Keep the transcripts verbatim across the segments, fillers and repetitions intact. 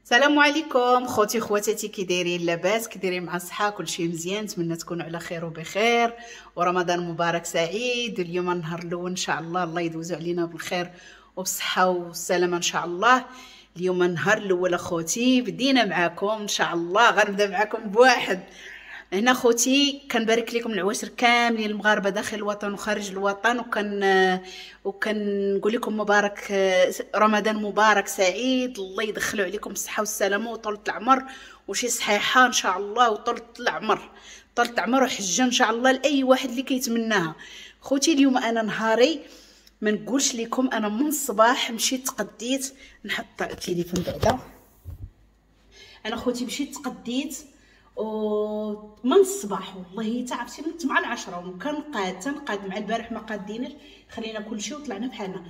السلام عليكم خوتي خواتاتي، كي دايرين؟ لاباس؟ كي دايرين مع الصحة؟ كلشي مزيان؟ نتمنى تكونوا على خير وبخير، ورمضان مبارك سعيد. اليوم النهار الاول ان شاء الله، الله يدوزو علينا بالخير وبالصحه والسلامة ان شاء الله. اليوم النهار الاول اخوتي، بدينا معاكم ان شاء الله، غنبدا معاكم بواحد هنا خوتي. كنبارك لكم العواشر كاملين المغاربة داخل الوطن وخارج الوطن، وكن وكنقول لكم مبارك، رمضان مبارك سعيد. الله يدخلوا عليكم الصحة والسلامة وطولة العمر وشي صحيحه ان شاء الله، وطولة العمر، طولة العمر وحجه ان شاء الله لاي واحد اللي كيتمناها. خوتي اليوم انا نهاري ما نقولش لكم، انا من الصباح مشيت تقديت، نحط التليفون بعدا. انا خوتي مشيت تقديت ومن الصباح، والله تعرفتي من مع العشرة وكنقاد تنقاد مع البارح ما قاديناش، خلينا كلشي وطلعنا بحالنا.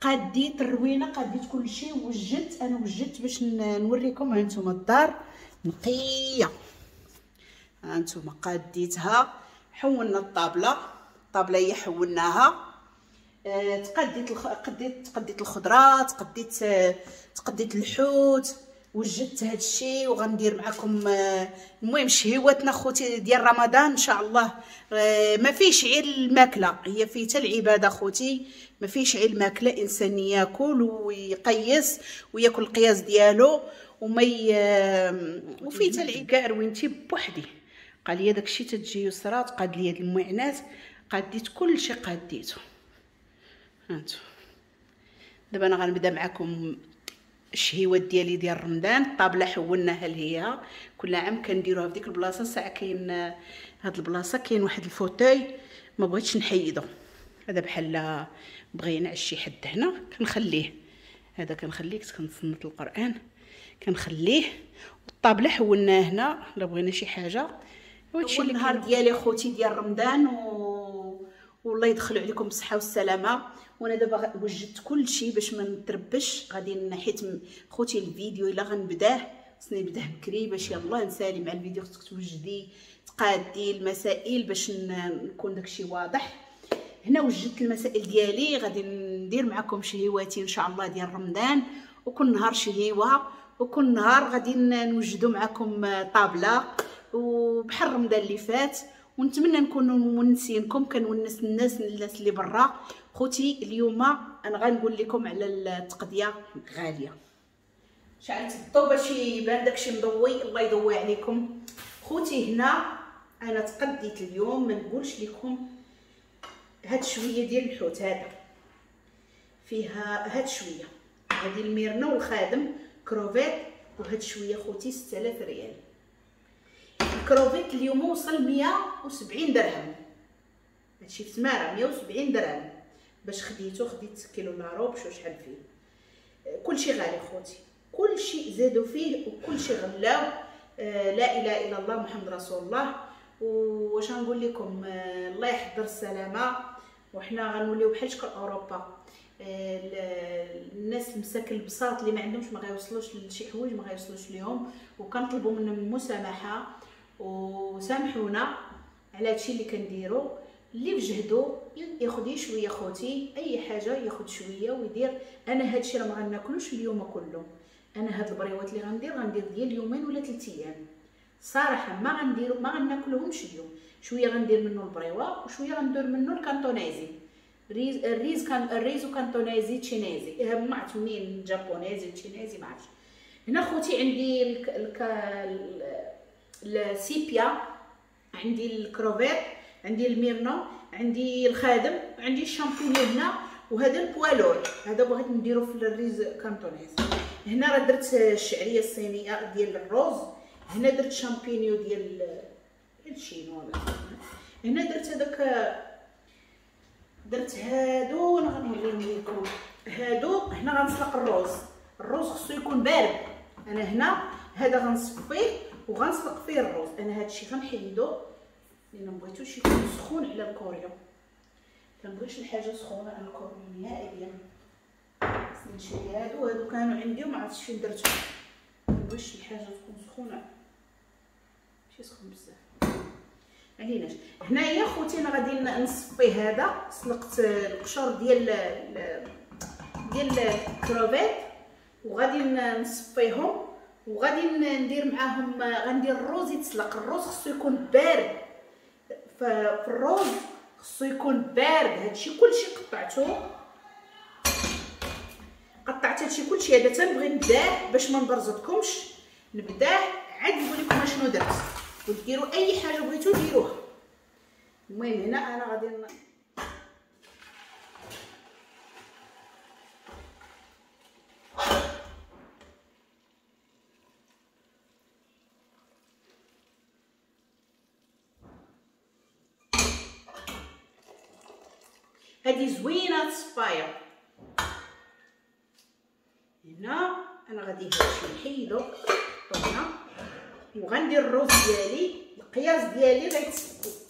قاديت الروينه، قاديت كلشي، وجدت انا وجدت باش نوريكم. ها نتوما الدار نقية، ها نتوما قاديتها، حولنا الطابله، الطابله هي حولناها. أه تقديت الخ... قديت تقديت الخضرة، تقديت تقديت الحوت، وجدت هذا الشيء وغندير معكم. المهم شهيواتنا خوتي ديال رمضان ان شاء الله، ما فيش غير الماكلة، هي فيه حتى العبادة خوتي، ما فيش غير الماكلة. انسان ياكل ويقيس وياكل القياس ديالو وما ي... وفيه حتى العبادة. كاع روينتي بوحدي، قال لي داكشي تتجي يسرى تقاد لي هاد المعينات، قاديت كلشي قاديتو. هانتو دابا انا غنبدا معكم الشهيوات ديالي ديال رمضان. الطابله حولناها لهي، كل عام كنديروها في ديك البلاصة. ساعة كاين هاد البلاصة كاين واحد ال fauteuil ما بغيتش نحيدو، هذا بحال بغى ينعس شي حد هنا كنخليه، هذا كنخليه كنتصنت القران كنخليه. والطابله حولناها هنا الا بغينا شي حاجة. وهادشي اللي النهار ديالي خوتي ديال رمضان، و... والله يدخلوا عليكم بالصحة والسلامة. وانا دابا وجدت كل شيء باش ما نتربش، غادي حيت خوتي الفيديو الا غنبداه خصني نبداه بكري باش يلاه نسالي مع الفيديو. خصك توجدي تقادي المسائل باش نكون داكشي واضح. هنا وجدت المسائل ديالي، غادي ندير معكم شهيواتي ان شاء الله ديال رمضان، وكل نهار شهيوه، وكل نهار غادي نوجدوا معكم طابله وبحال رمضان اللي فات. ونتمنى نكونوا مونسينكم، كنونس الناس الناس اللي برا. خوتي اليوم انا غنقول لكم على التقضيه غالية. شعلت الضو باش يبان داكشي مضوي، الله يضوي عليكم. خوتي هنا انا تقديت اليوم، ما نقولش لكم هاد شوية ديال الحوت هذا فيها هاد شوية، هادي الميرنا والخادم كروفيت، وهاد شوية خوتي ستة آلاف ريال. الكروفيت اليوم وصل مية وسبعين درهم، هادشي في تماره مية وسبعين درهم باش خديتو. خديت كيلو لاروب شو شحال فيه، كلشي غالي خوتي، كلشي زادوا فيه وكلشي غلاو. آه لا اله الا الله محمد رسول الله. واش غنقول لكم، آه الله يحضر السلامة. وحنا غنوليو بحال شكل اوروبا، آه الناس المساكن البساط اللي ما عندهمش ما غيوصلوش لشي حوايج، ما غيوصلوش ليهم، وكنطلبوا منهم المسامحة وسامحونا على هادشي اللي كنديرو. اللي بجهدو ياخذ شوية خوتي، اي حاجة ياخذ شوية ويدير. انا هادشي راه ما غناكلوش اليوم كله، انا هاد البريوات اللي غندير غندير ديال يومين ولا ثلاث ايام صراحة، ما غندير ما غناكلهمش اليوم. شوية غندير منه البريوه وشوية غندير منه الكانتونيزي، ريز الريز كان الريزو كانتونيزي تشينيزي، ما عرفت منين، جابونيزي تشينيزي ما عرفتش. هنا خوتي عندي الك... الك... السيبيا، عندي الكروفيت، عندي الميرنو، عندي الخادم، عندي الشامبينيون هنا، وهذا ال poids lourd هذا بغيت نديرو في الريز cantonaise. هنا راه درت الشعرية الصينية ديال الروز، هنا درت شامبينيو ديال الشينوا، هنا درت هذاك، درت هادو. انا غنوريهم لكم هادو. هنا غنسلق الروز، الروز خصو يكون بارد. انا هنا هذا غنصفيه وغنسلق فيه الروز. انا هادشي غنحيدو لان ما بغيتوش يكون سخون على الكوريو، كنبغيش الحاجة سخونة على الكوريو نهائيا. خصني نشري هادو، هادو كانوا عندي وما عرفتش فين درتهم. ما بغيتش الحاجة تكون سخونة، ماشي سخون بزاف عليناش. هنايا خوتي انا غادي نصفي هذا، سلقت القشور ديال ديال الكروفيت وغادي نصفيهم وغادي ندير معاهم، غندير الروز يتسلق. الروز خصو يكون بارد، في الروز خصو يكون بارد. هادشي كلشي قطعته، قطعت هادشي كلشي. هذا تنبغي نبداه باش ما نبرزطكمش، نبداه عاد نقول لكم اشنو درت، وديروا اي حاجة بغيتو ديروها. المهم هنا انا غادي ن... هادي زوينة الصفايه. هنا انا غادي هادشي نحيدو هنا، وغندير الروز ديالي. القياس ديالي غيت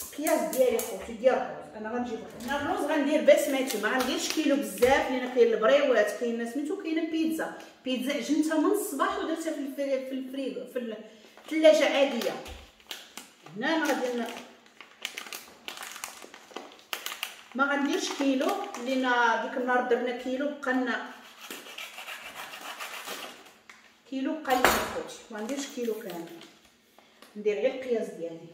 القياس ديالي خوتي ديال الروز انا غنجيب هنا الروز غندير بسميتو، ما غنديرش كيلو بزاف لان كاين البريوات، كاين سميتو، كاينه بيتزا. بيتزا عجنتها من الصباح ودرتها في الفريغو في الثلاجة عادية. هنا انا غادي ما غنديرش كيلو لان ديك النهار درنا كيلو بقى لنا كيلو بقى لنا خوتي، ما نديرش كيلو كامل، ندير غير القياس ديالي.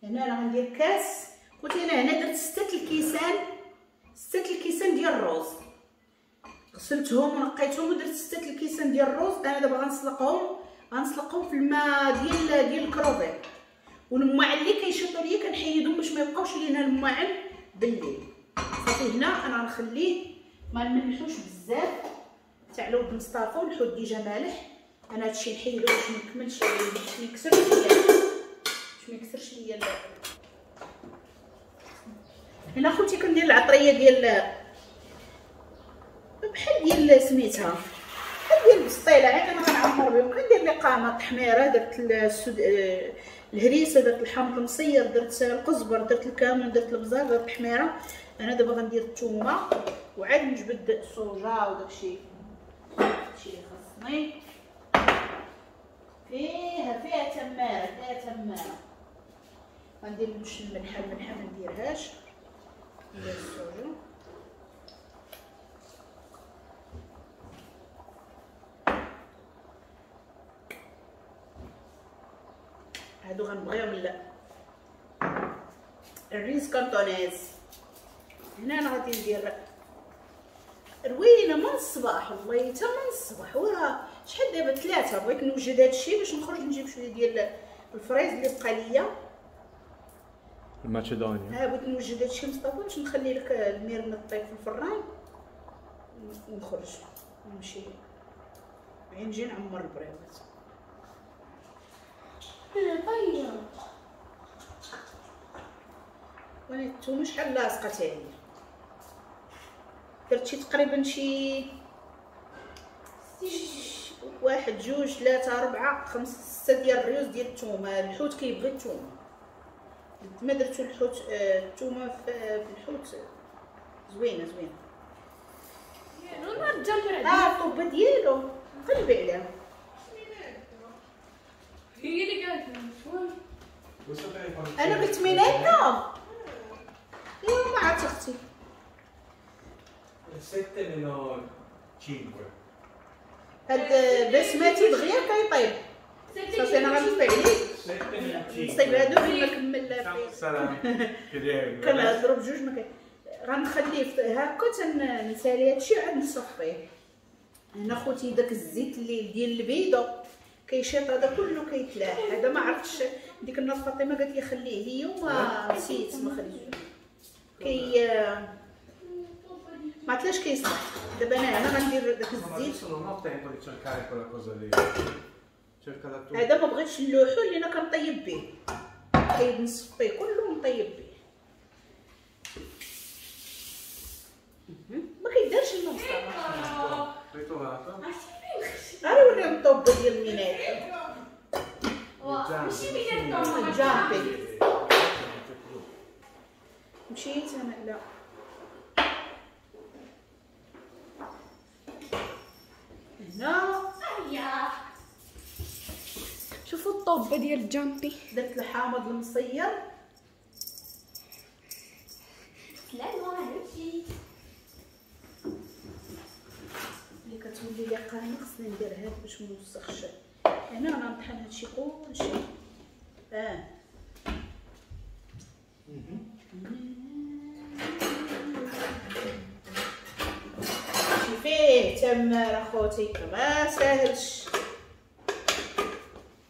هنا انا غندير كاس خوتي. انا هنا درت ستة الكيسان، ستة الكيسان ديال الروز، غسلتهم ونقيتهم ودرت ستة الكيسان ديال الروز. انا دابا غنسلقهم، غنسلقهم في الماء ديال ديال الكروفيت، والماعن اللي كيشيطوا ليا كنحيدهم باش ما يبقاوش لينا الماعن بالليل. صافي هنا انا غنخليه ما نملحوش بزاف تاع لود مصطفى، والحوت déjà مالح. انا هادشي نحيدو باش ما نكملش، باش ما يكسرش ليا، باش ما يكسرش ليا. هنا خوتي كندير العطريه ديال بحال ديال سميتها، بحال ديال البسطيله، عاد انا غنعمر بهم. كندير لقامه تحميره، درت السود... الهريسه، درت الحامض المصير، درت القزبر، درت الكمون، درت البزار، درت التحميره. انا دابا غندير الثومه وعاد نجبد الصوجه وداكشي داكشي اللي خصني. فيها فيها تماره، فيها تماره. غندير مش الملحة، الملحة ما نديرهاش، ندير الصوجه. هادو غنبغيهم لا الريز cantonese. هنا انا غادي ندير روينه من الصباح، والله حتى من الصباح. وراه شحال دابا ثلاثة، بغيت نوجد هادشي باش نخرج نجيب شوية ديال الفريز اللي بقى ليا ال macedonia. ها بغيت نوجد هادشي مصطفى باش نخلي لك الميرنا طيب في الفران ونخرج نمشي نجي نعمر البريوات. طيب وانا الثومه شحال لاصقه تا هي، درت شي تقريبا شي واحد جوج ثلاثة أربعة خمسة ستة ديال الريوس ديال الثومه. الحوت كيبغي الثومه، ما درتو الحوت الثومه في الحوت زوينة زوينة. اه الطوبه ديالو قلبي عليها، هي اللي قالت انا قلت ميناتا. ايوا ما عرفت اختي. ستة meno خمسة. هاد بسماتي دغيا كيطيب. صافي انا غنطفي عليه، نصايب هادو بما كمل. كنهضروا بجوج ما كاين. غنخليه هاكا تنسالي هادشي عاد نصفيه. هنا خوتي داك الزيت اللي ديال البيضة كيشيط هذا كله كيتلاح. هذا ما عرفتش، ديك النهار فاطمة قالت لي خليه ليا وما نسيت ما خليتوش. كي ما عرفتش كيصلح. دابا انا هنا غندير داك الزيت. هذا ما بغيتش نلوحو لان كنطيب به، نطيب نصفيه كله ونطيب به. ما كيدارش الماء مصطفى. راه وريهم الطوبه ديال المينات. ماشي مينات جامبي. مشيت انا لا هنا. شوفوا الطوبه ديال الجامبي. درت الحامض المصير. لا لا ماشي. الطريقة هنا خصني ندير هاد باش ما نوسخش. هنا انا نطحن هادشي كلشي. اه فيه تماره خوتي، ما ساهلش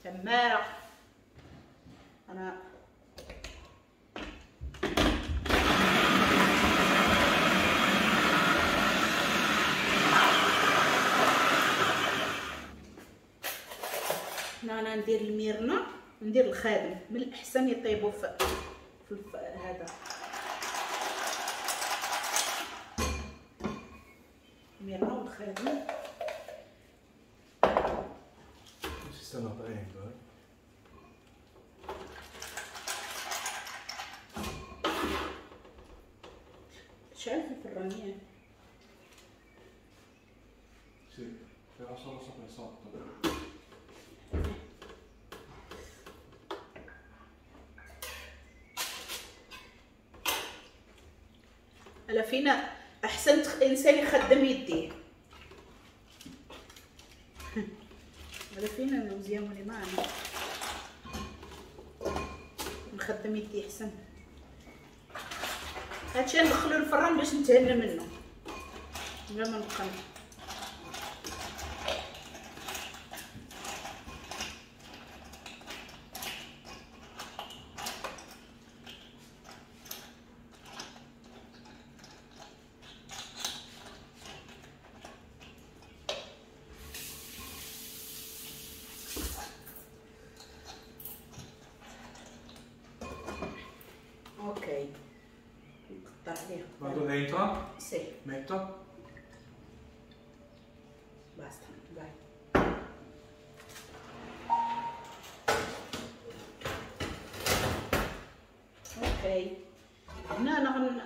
تماره. انا هنا انا ندير الميرنا، ندير الخادم، من الاحسن يطيبوا في, في هذا الميرنا والخادم. Si stanno aprendo, eh. شعل في الفرانية. Sì, però solo sopra e sotto. على فينا احسن انسان يخدم يديه. على فينا مزيان معنا نخدم يدي احسن. هادشي ندخلو الفران باش نتهنى منه بلا ما نبقى. Ok, نقطع عليه. Vado dentro? Sì. Metto? Basta, vai. Ok. هنا انا غن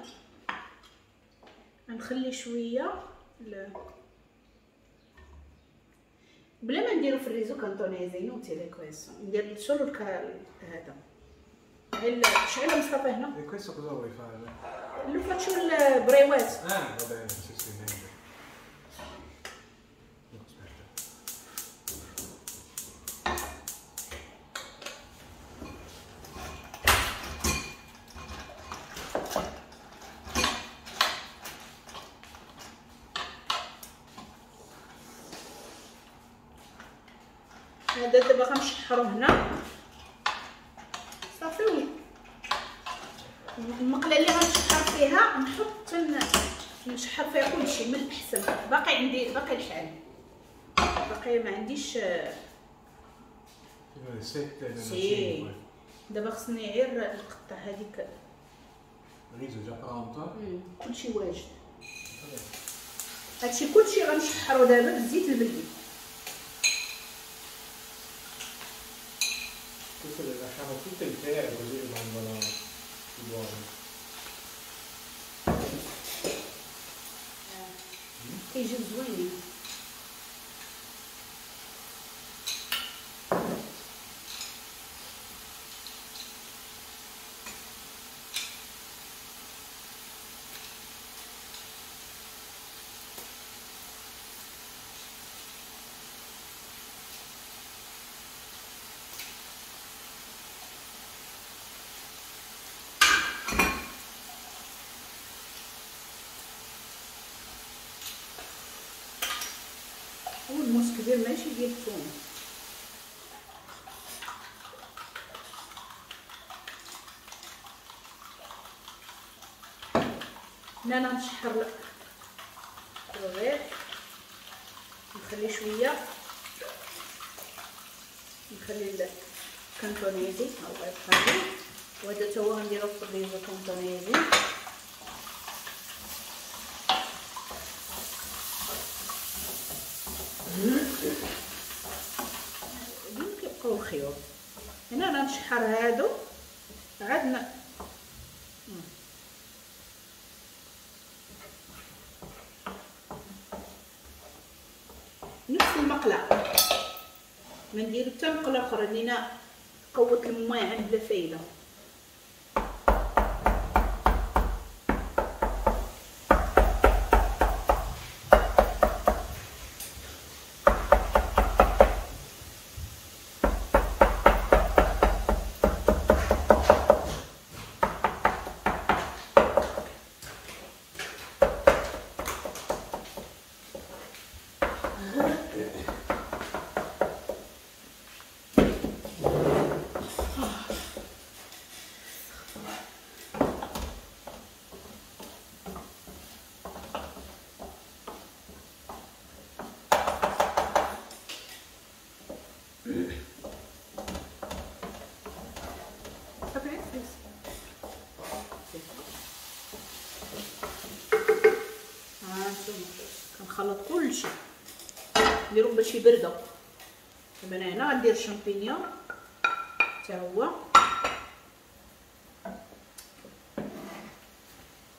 غنخلي شوية ل... بلا ما نديرو في ال riso cantonese، inutile questo. ندير solo هذا. شعله مصطفى هنا. E questo cosa vuoi fare? Lo faccio il بريوات. Ah, va bene, sì, sì, meglio. No, aspetta. هذا دابا غنشحرو هنا صافي. المقله اللي غنشحر فيها نحط نشحر فيها كلشي من الاحسن. باقي عندي باقي الحال، باقي ما عنديش. Sì. دابا خصني غير نقطع هذيك. Riso già pronto. كلشي واجد. هادشي كلشي غنشحرو دابا بالزيت البلدي. Queste le lasciamo tutte intere così rimangono buone. كيجيو زوينين. والموس كبير ماشي ديال الثوم. هنا انا نشحر الرغيف، نخلي شوية، نخلي ال cantonese او غير، وهذا تا هو غنديرو في ال riso cantonese. اليوم كيبقاو خيوط. هنا انا نشحر هادو عاد ن... نفس المقله، ما نديرو حتى مقلة اخرى لينا قوة الماعن بلا فايده. كنخلط كلشي نديرهم باش يبردوا. دابا انا هنا غندير الشامبينيون حتى هو،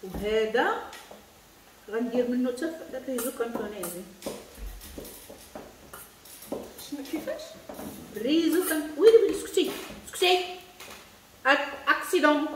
وهذا غندير منه حتى ال riso cantonese. شنو كيفاش riso can ويلي ويلي سكتي سكتي accident.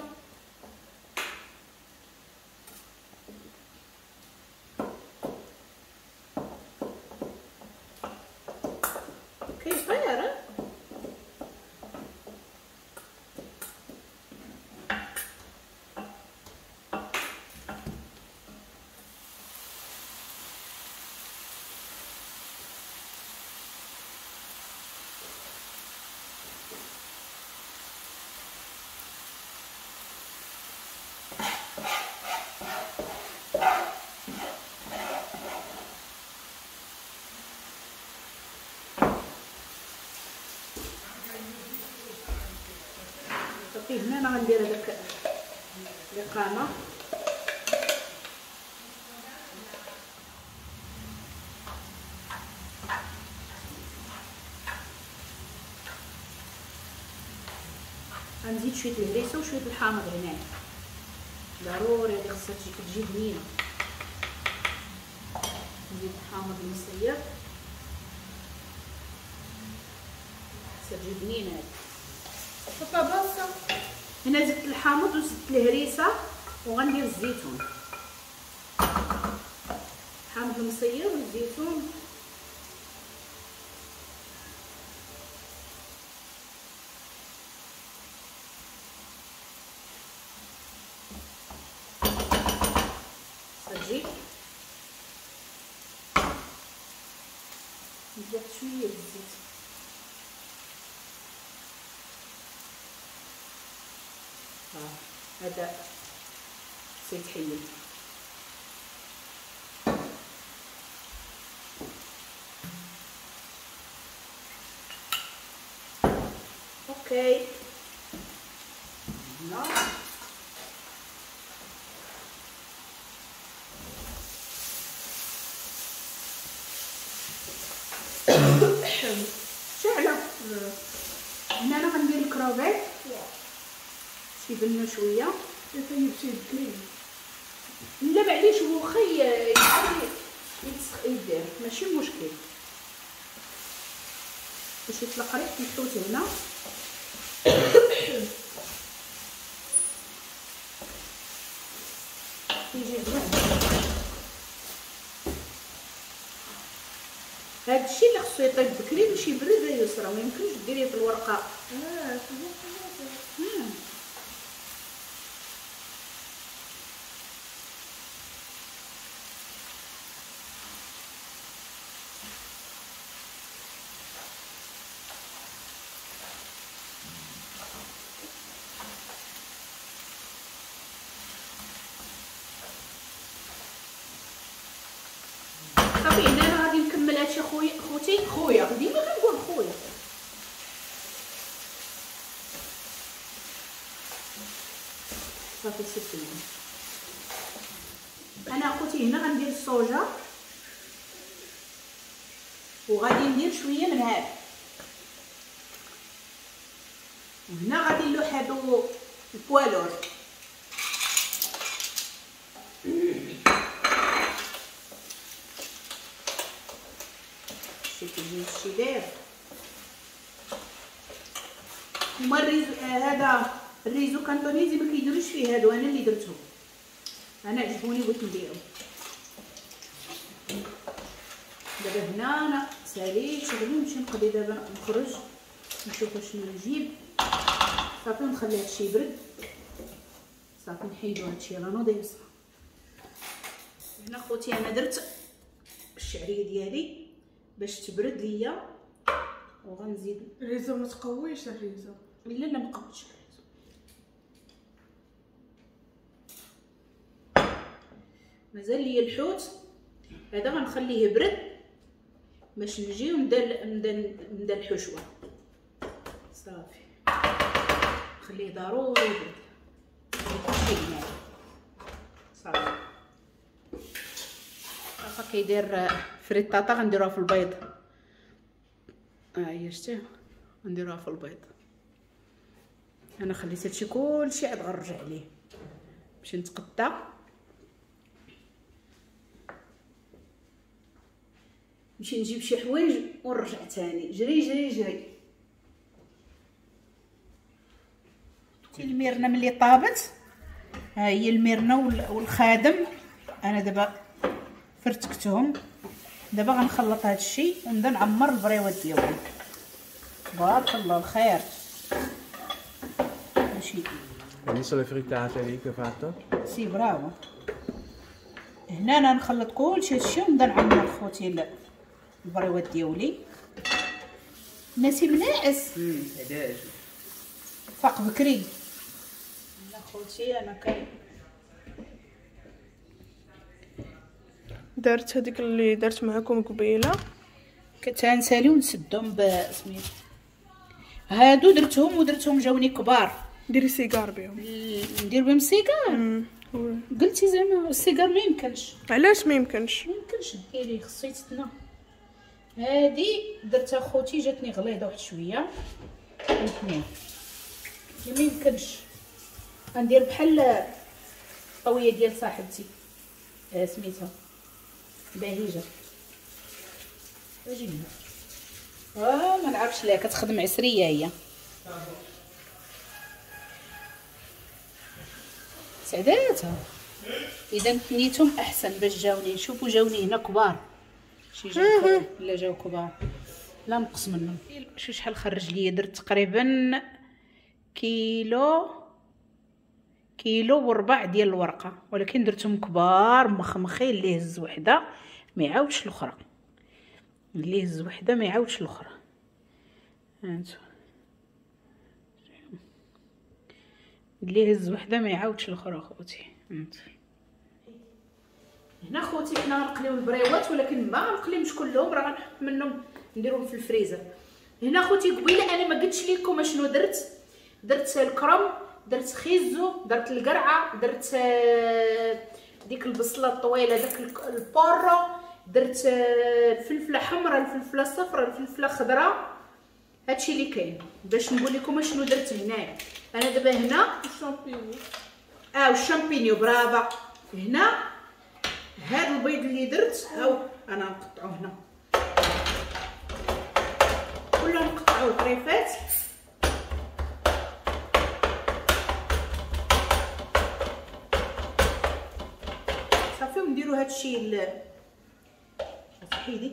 كيطير هنا انا غندير هذاك القامة. غنزيد شوية الهريسه وشوية الحامض هنا ضروري، هذه خصها تجي تجي بنينه. نزيد الحامض المصير خصها تجي بنينه هذه. هنا زدت الحامض وزدت الهريسه وغندير الزيتون، الحامض المصير والزيتون. صافي نزيد شوية الزيت. هذا سيتحيد. okay هنا شعله. هنا انا غندير الكروفيت يبنو شوية، يطيب شي بكري. لا معليش هو واخا يعاود يدير ماشي مشكل، باش يطلق ريحه الحوت هنا. يجي زوين هادشي اللي خصو يطيب بكري باش يبرد يسرى، ما يمكنش ديريه في الورقة. اه صافي. هنا انا غادي نكمل هادشي خويا خوتي خويا ديما كنقول خويا. صافي سيتي. انا خوتي هنا غندير الصوجه وغادي ندير شوية من هذا، وهنا غادي نلوح هادو البوالور. شي شي داير هما ال riso، هذا ال riso cantonese ما كيديروش فيه هادو، انا اللي درتهم، انا عجبوني بغيت نديرهم. دابا هنا انا ساليت شغلي، نمشي نقضي دابا نخرج نشوف شنو نجيب. صافي نخلي هادشي يبرد، صافي نحيدو هادشي راه نوض يوسع. هنا خوتي انا درت الشعرية ديالي باش تبرد ليا، وغنزيد ال riso. ما تقويش ال riso؟ لا لا ما قويتش ال riso. مازال ليا الحوت هذا غنخليه يبرد باش نجي ونبدا نبدا نبدا الحشوه. صافي نخليه ضروري يبرد. صافي مصطفى كيدير frittata غنديروها في البيض. ها هي شتيها غنديروها في البيض. انا خليت هادشي كلشي عاد غنرجع ليه باش نتقطع. نمشي نجيب شي حوايج ونرجع تاني. جري جري جري. الميرنا ملي طابت ها هي الميرنا والخادم. انا دابا فرتكتهم، دابا غنخلط هذا الشيء ونبدا نعمر البريوات ديالهم. تبارك الله الخير. ماشي Adesso le frittate lì che ho fatto? Sì, bravo. هنا انا نخلط كلشي هادشي ونبدا نعمر خوتي البريوات ديالي. نسيم ناعس فاق بكري. انا خوتي انا كان دارت هذيك اللي درت معكم قبيلة كتنسالي ونسدهم بسميت هادو درتهم ودرتهم جاوني كبار. ديري سيجار بهم. ندير بهم سيجار؟ قلتي زعما السيجار ما يمكنش. علاش ما يمكنش؟ ما يمكنش ديري، خصو يتسنى. هادي درتها خوتي جاتني غليظة واحد شوية الاثنين، ما يمكنش. غندير بحال الطوية ديال صاحبتي آه سميتها بهيجه. اجي هنا. اه ما نعرفش لا كتخدم عسرية هي. سعداتها. اذا ثنيتهم احسن باش جاوني. شوفوا جاوني هنا كبار، شي جاو لا جاو كبار لا نقص منهم. شو شحال خرج ليا؟ درت تقريبا كيلو كيلو وربع ديال الورقة، ولكن درتهم كبار مخمخين. اللي هز وحده ما يعاودش الاخرى، اللي هز وحده ما يعاودش الاخرى. هانتو اللي هز وحده ما يعاودش الاخرى خوتي. هانتو هنا خوتي حنا غنقليو البريوات، ولكن ما غنقليهمش كلهم، راه غنحط منهم نديرهم في الفريزر. هنا خوتي قبيلة انا ما قلتش لكم اشنو درت. درت الكرم، درت خيزو، درت القرعة، درت ديك البصله الطويلة، داك ال porro، درت الفلفله حمراء، الفلفله صفراء، الفلفله خضراء. هادشي اللي كاين باش نقول لكم اشنو درت هنايا. انا دابا هنا الشامبينيو، اه والشامبينيو برافا. هنا هاد البيض اللي درت هاو انا نقطعو هنا كله، نقطعوه طريفات. صافي ونديرو هادشي ال حيدي.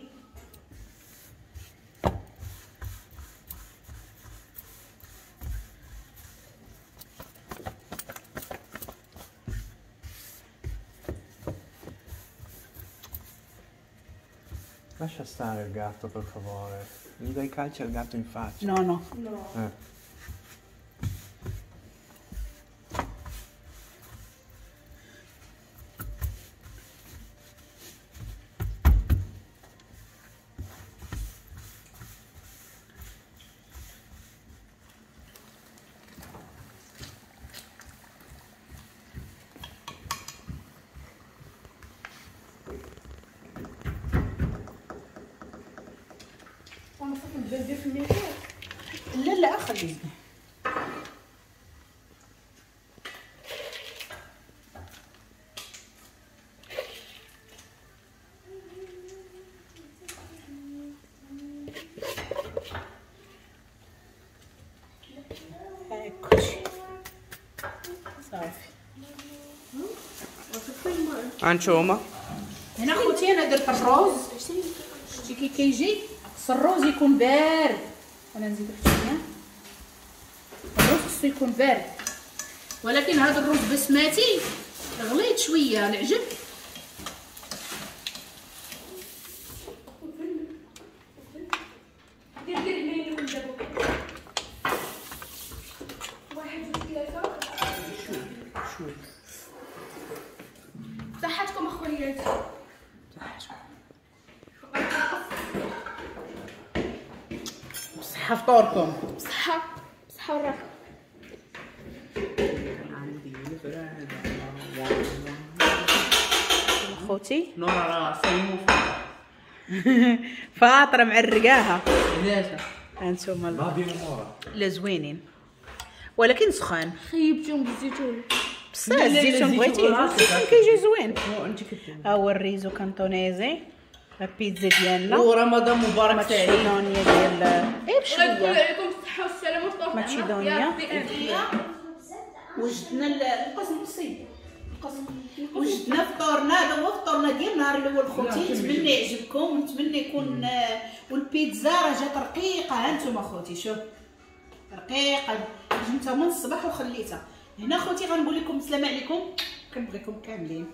Lascia stare il gatto per favore, gli dai calci al gatto in faccia. No, no. No. Eh. لا لا خليه. هاك كلشي صافي. هانتوما هنا خوتي انا درت الروز. شتي كي كيجي خص الروز يكون بارد. انا نزيد واحد شوية. الروز خصو يكون بارد، ولكن هذا الروز بسماتي غليت شوية العجب. دير دير هنا اللي دابا واحد جوج ثلاثة. شوية صحتكم اخوياتي. صحتكم. بصحة فطوركم. بصحة بصحة والراحة. خوتي. نورا راه صايمو فاطره معرقاها. علاش؟ ها انتم لا زوينين ولكن سخان. خيبتيهم بالزيتون. بصح الزيتون بغيتي الزيتون كيجي زوين. ها هو ال riso cantonese، البيتزا ديالنا. ورمضان مبارك سعيد. macedonia ديال اي بشوية. الله يدخل عليكم بالصحة والسلامة والطول. macedonia. وجدنا القسم نصي القسم وجدنا فطورنا. هذا هو فطورنا ديال النهار الاول خوتي. نتمنى يعجبكم ونتمنى يكون. والبيتزا راه جات رقيقه، ها انتم خوتي شوف رقيقه، جبتها من الصباح وخليتها هنا خوتي. غنقول لكم السلام عليكم، كنبغيكم كاملين.